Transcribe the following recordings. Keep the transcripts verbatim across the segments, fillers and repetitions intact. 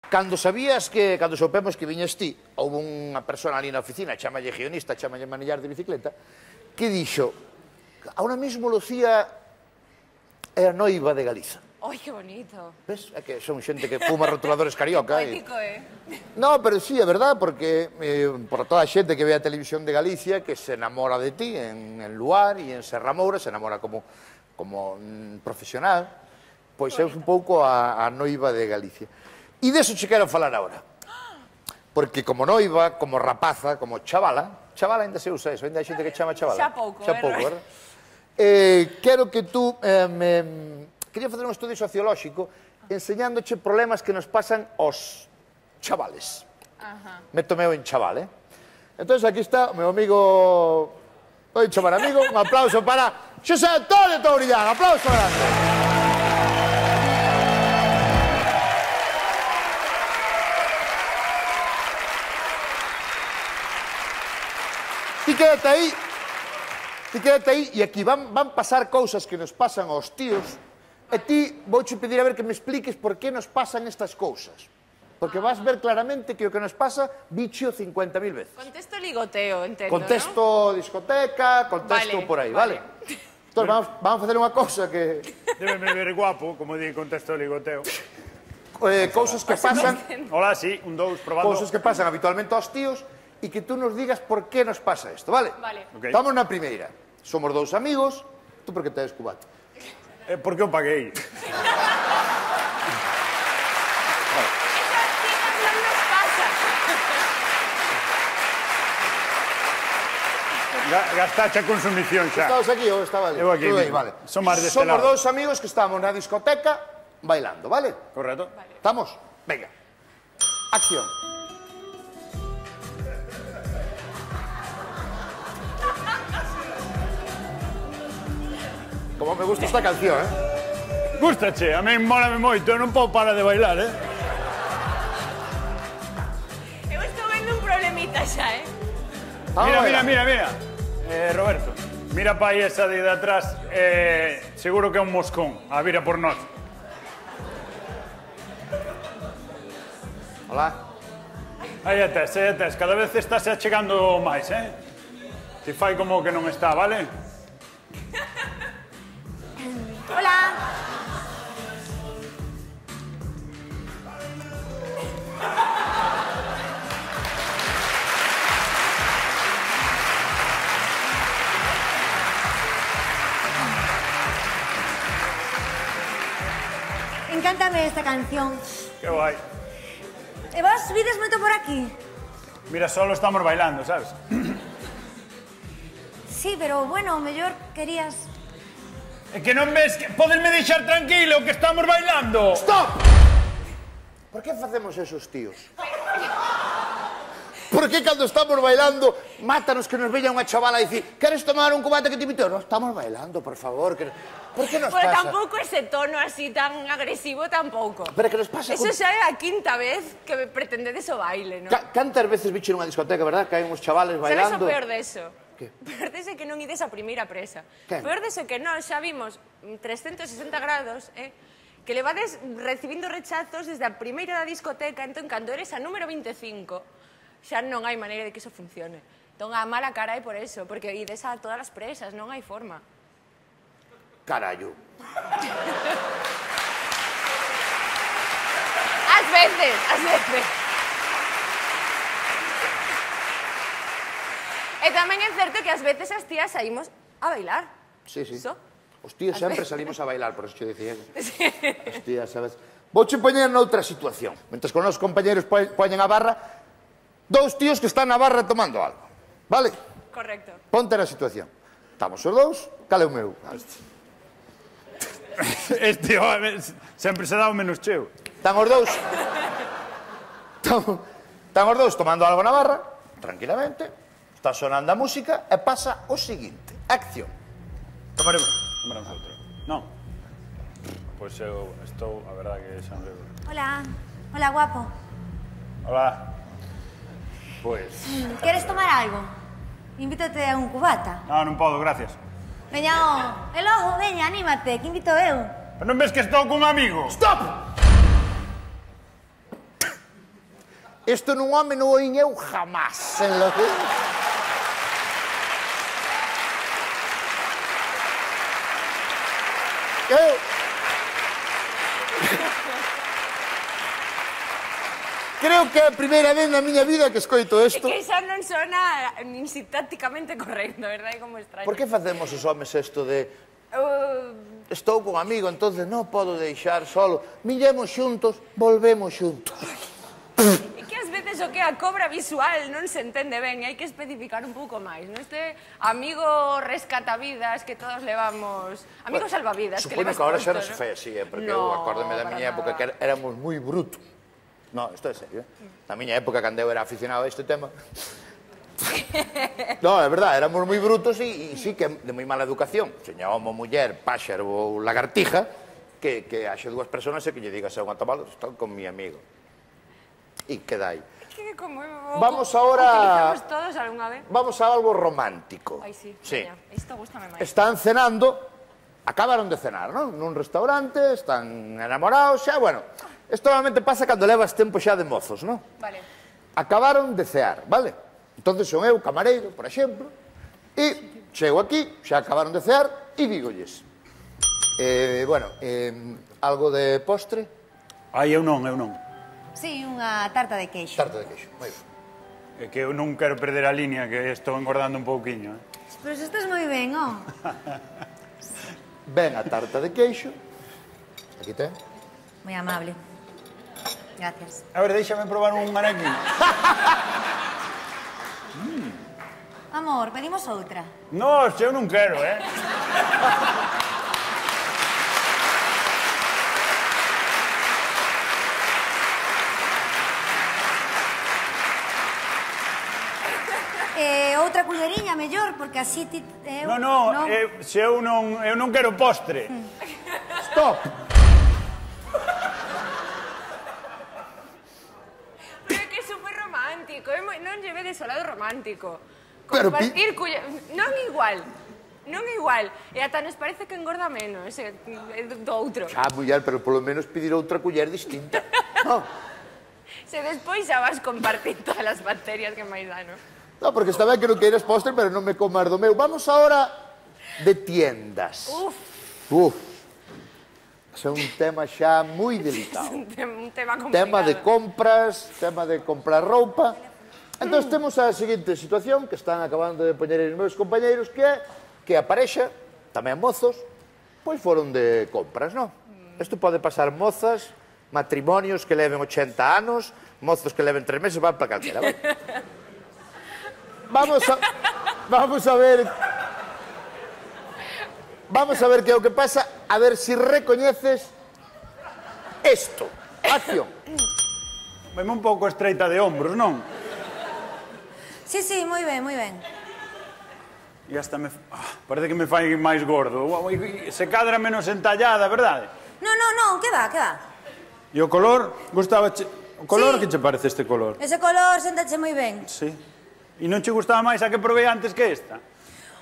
Cando sabías que, cando soupemos que viñes ti, houve unha persona ali na oficina, chamalle guionista, chamalle manillar de bicicleta, que dixo, ahora mismo Lucía é a noiva de Galiza. Ai, que bonito. Ves? É que son xente que fuma rotuladores carioca. Poético, eh? No, pero sí, é verdad, porque eh, por toda a xente que ve a televisión de Galicia, que se enamora de ti en, en Luar e en Serra Moura, se enamora como, como mm, profesional, pois é un pouco a, a noiva de Galicia. E deso che quero falar agora. Porque como noiva, como rapaza, como chavala, chavala ainda se usa eso, ainda hai xente que chama chavala. Xa pouco, Xa pouco, verdad? Eh, quero que tú... Eh, me... Quería facer un estudio sociolóxico enseñándoche problemas que nos pasan aos chavales. Ajá. Meto meu en chaval, eh? Entón, aquí está o meu amigo... Oi, chamar amigo, un aplauso para Xosé Antonio Tourillán, aplauso grande. Ti quédate aí, ti quédate aí, e aquí van, van pasar cousas que nos pasan aos tíos, e ti vouche pedir a ver que me expliques por que nos pasan estas cousas. Porque vas ver claramente que o que nos pasa, bicho cincuenta mil veces. Contesto ligoteo, entendo, Contesto ¿no? discoteca, contesto vale, por aí, vale? vale. Entón, vamos, vamos a facer unha cousa que... Débeme ver guapo, como di contesto ligoteo. Eh, cousas que pasan... Hola, sí, un, dous, probando. Cousas que pasan habitualmente aos tíos, e que tú nos digas por que nos pasa isto, vale? Vale. Okay. Estamos na primeira. Somos dous amigos, tú por que te des cubate? Eh, porque eu paguei. Gastache a consumición xa. Estabas aquí ou estaba ali? Eu aquí aí, mismo. vale. Son máis deste Somos lado. dous amigos que estamos na discoteca bailando, vale? Correcto. Vale. ¿Estamos? Venga. Acción. Como me gusta esta canción, eh? Gústache, a mí mólame moito, eu non podo parar de bailar, eh? Eu estou vendo un problemita xa, eh? Vamos Mira, a mira, bailar. mira, mira. Eh, Roberto, mira pa aí esa de de atrás, eh, seguro que é un moscón, a vira por nós. Hola. Aí a tes, aí a tes, cada vez estás achegando máis, eh? Ti fai como que non está, vale? Hola. Encántame esta canción. Que guai. E vos vides moito por aquí? Mira, solo estamos bailando, sabes? Sí, pero, bueno, o mellor querías... É que non ves que... Podesme deixar tranquilo que estamos bailando? Stop! Por que facemos esos tíos? Por que cando estamos bailando mátanos que nos veña unha chavala e dicir queres tomar un cubate que te invito? No, estamos bailando, por favor. Que... Por que nos Pero pasa? tampouco ese tono así tan agresivo tampouco. Pero que nos pasa... Eso con... xa é a quinta vez que me pretendedes o baile, non? Ca cantas veces bicho nunha discoteca, verdad? Que hai uns chavales bailando... Sabes o peor deso? Que? Peor deso é que non ides a primeira presa. Que? Peor deso é que nós xa vimos trescentos sesenta grados, eh? Que levades recibindo rechazos desde a primeira da discoteca, entón, cando eres a número veinticinco, xa non hai maneira de que iso funcione. Entón, a mala cara é por eso, porque ides a todas as presas, non hai forma. Carallo. Ás veces, ás veces. E tamén é certo que ás veces as tías saímos a bailar. Sí, sí. Iso. Os tíos sempre salimos a bailar, por eso te dicía. Sí. Os tías, sabes? Vouche poñer noutra situación. Mentres con os compañeros poñen a barra, dous tíos que están na barra tomando algo. Vale? Correcto. Ponte na situación. Estamos os dous, cal é o meu? Este, home, sempre se dá o menos cheo. Están os dous... Están, están os dous tomando algo na barra, tranquilamente, está sonando a música, e pasa o seguinte. Acción. Tomaremos. Tomaremos outro. Non. Pois eu estou, a verdade que xa non... Hola. Hola, guapo. Hola. Pois... Queres tomar algo? Invítate a un cubata. Non, non podo, gracias. Veña, o... El ojo, veña, anímate, que invito eu. Pero non ves que estou con un amigo? Stop! Isto nun home non oín eu jamás. En lo que... Eu... Creo que é a primeira vez na miña vida que escoito É isto. que xa non sona nin sintácticamente correcto, verdad? É como extraño. Por que facemos os homes isto de... Uh, Estou con amigo, entonces non podo deixar solo. Millemos xuntos, volvemos xuntos. É que ás veces o que é a cobra visual non se entende ben, hai que especificar un pouco máis. Non este amigo rescatavidas que todos levamos... Amigo salvavidas que Supoño levas que ahora xa non posto, se fai así, eh, porque No, eu acórdome da para miña época nada. que éramos moi brutos. No, isto é serio, eh? Na miña época, cando eu era aficionado a este tema... No, é verdad, éramos moi brutos e, e sí que de moi mala educación. Seña homo, muller, páxaro ou lagartija, que, que haxe dúas personas e que lle digas a unha tabala, estou con mi amigo. E queda aí. Que como o, Vamos ahora... utilizamos todos algunha vez. Vamos a algo romántico. Ai, sí, Sí. veña, isto gústame máis. Están cenando, acabaron de cenar, non? Nun restaurante, están enamorados, xa, bueno... Isto normalmente pasa cando levas tempo xa de mozos, non? Vale. Acabaron de cear, vale? Entonces son eu, camareiro, por exemplo, e chego aquí, xa acabaron de cear, e dígolles. Eh, bueno, eh, algo de postre? Ai, eu non, eu non. Sí, unha tarta de queixo. Tarta de queixo, moi ben. É que eu non quero perder a línea, que estou engordando un pouquiño. Eh? Pero se estás moi ben, oh. Ben a tarta de queixo. Aquí ten. Moi amable. Gracias. A ver, déixame probar un anaquín. Amor, pedimos outra. No, eu non quero, eh? Eh, outra culleriña, mellor, porque así ti... Eu, No, no, eu, se eu non, eu non quero postre. Stop! Pero é que é super romántico, é moi, non lleve desolado romántico. Pero Compartir culle... Non igual, non igual. E ata nos parece que engorda menos, é, é do outro. Xa, muller, pero polo menos pedir outra culler distinta. No, Se despois xa vas compartir todas as bacterias que máis dá, non? no, porque está ben que non queiras postre, pero non me comas do meu. Vamos ahora de tiendas. Uf, Uf. É un tema xa moi delicado. un, te un tema complicado. Tema de compras, tema de comprar roupa. Entón, temos a seguinte situación que están acabando de poñer os meus compañeiros, que é que a parexa, tamén mozos, pois foron de compras, non? Isto pode pasar mozas, matrimonios que leven ochenta anos, mozos que leven tres meses, van para calquera, vale? Vamos a, vamos a ver... Vamos a ver que é o que pasa, a ver se si recoñeces isto. Acción. Veme un pouco estreita de hombros, non? Sí, sí, moi ben, moi ben. E hasta me... Ah, parece que me fai máis gordo. Se cadra menos entallada, verdade? No, no, no, que va, que va. E o color? Gustaba che... O color, Sí. que che parece este color? Ese color sentache moi ben. Sí. E non che gustaba máis a que probei antes que esta?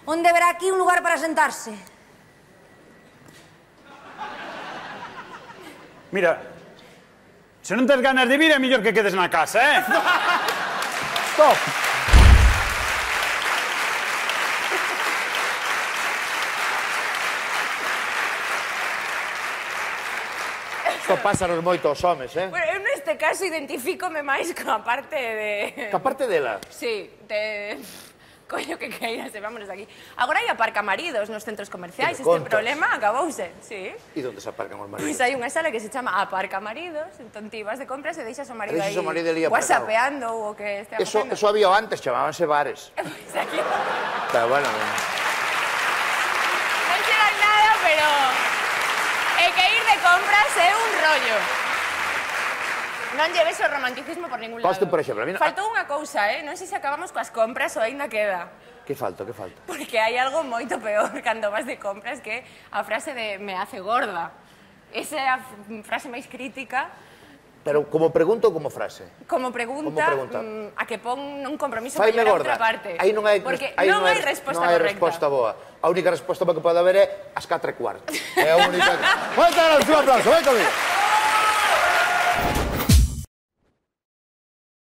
Onde verá aquí un lugar para sentarse? Mira, se non tes ganas de vir, é mellor que quedes na casa, eh? Stop. Isto pasa nos moito aos homes, eh? Bueno, eu neste caso identifícome máis coa parte de... Que aparte dela, Sí, de... Coño que queiras, e vámonos aquí. Agora hai aparcamaridos nos centros comerciais, Que me este contas? problema acabouse, sí. e onde se aparcan os Pois maridos? hai unha sala que se chama aparcamaridos, entón ti vas de compras e deixas o marido Deixas aí o marido ali aparcado. whatsappeando ou o que estea Eso, facendo. eso había antes, chamábanse bares. Pois aquí Pero bueno, non se dan nada, pero é que ir de compras é un rollo. Non lleves o romanticismo por ningún lado. Poste, por exemplo, a mí no- Faltou unha cousa, eh? Non sei se acabamos coas compras ou aínda queda. que falta, que falta? Porque hai algo moito peor cando vas de compras que a frase de me hace gorda. Esa é a f- frase máis crítica. Pero como pregunta ou como frase? Como pregunta, Como pregunta? mm, a que pon un compromiso Faime maior a gorda. outra parte. Aí non hai, Porque aí non hai resposta non hai correcta. resposta boa. A única resposta que pode haber é as catro e cuarto. É a única. Moita gracias, un aplauso, vai comigo.